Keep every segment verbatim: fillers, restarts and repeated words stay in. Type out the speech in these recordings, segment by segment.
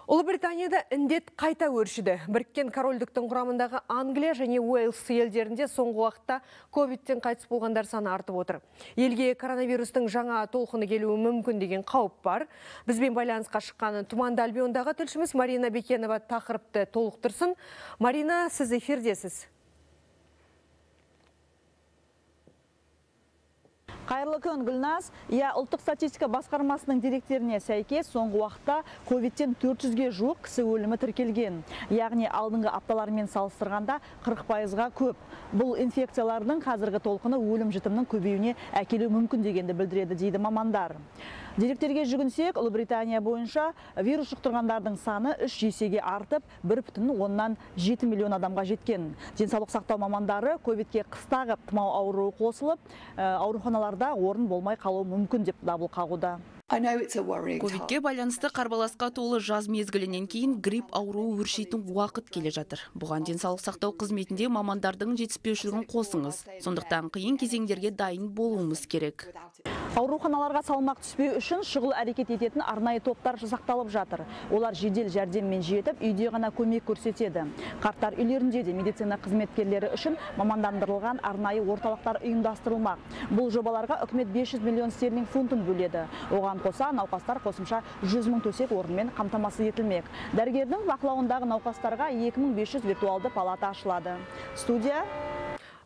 Ұлыбританияда індет қайта өршіді. Біріккен корольдіктің құрамындағы Англия және Уэльс елдерінде соңғы уақытта ковидтен қайтыс болғандар саны артып отыр. Елге коронавирустың жаңа толқыны келуі мүмкін деген қауіп бар. Бізбен байланысқа шыққаны Тұманды Альбиондағы тілшіміз Марина Бекенова тақырыпты толықтырсын. Марина, сіз эфирдесіз. Қайырлы күн, Гүлназ. Я ұлттық статистика басқармасының деректеріне сәйкес соңғы уақытта ковидтен төрт жүзге жуық кісі өлімі тіркелген. Яғни алдыңғы апталармен салыстырғанда қырық пайызға көп. Бұл инфекциялардың қазіргі толқыны өлім жітімнің көбеюіне әкелуі мүмкін дегенді білдіреді дейді мамандар. Деректерге жүгінсек, Ұлыбритания бойынша вирус жұқтырғандардың саны үш есеге артып, бір бүтін оннан жеті миллион адамға жеткен. Денсаулық сақтау мамандары ковидке қыстағы тұмау ауруы қосылып, ауруханаларда орын болмай қалуы мүмкін деп дабыл қағуда. Ковидке байланысты қарбаласқа толы жаз мезгілінен кейін грипп ауруы өршейтін уақыт келе жатыр. Бұған денсаулық сақтау қызметінде мамандардың жетіспеушілігін қосыңыз. Сондықтан қиын кезеңдерге дайын болуымыз керек. Ауруханаларға салмақ түспеу үшін шұғыл әрекет ететін арнайы топтар жасақталып жатыр. Олар жедел жәрдеммен жетіп, үйде ғана көмек көрсетеді. Қарттар үйлерінде де медицина қызметкерлері үшін мамандандырылған арнайы орталықтар ұйымдастырылмақ. Бұл жобаларға үкімет бес жүз миллион стерлинг фунтын бөледі. Оған қоса науқастар қосымша жүз мың төсек орынмен қамтамасыз етілмек. Дәрігердің бақылауындағы науқастарға екі мың бес жүз виртуалды палата ашылады. Студия.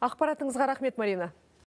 Ақпаратыңызға рахмет, Марина.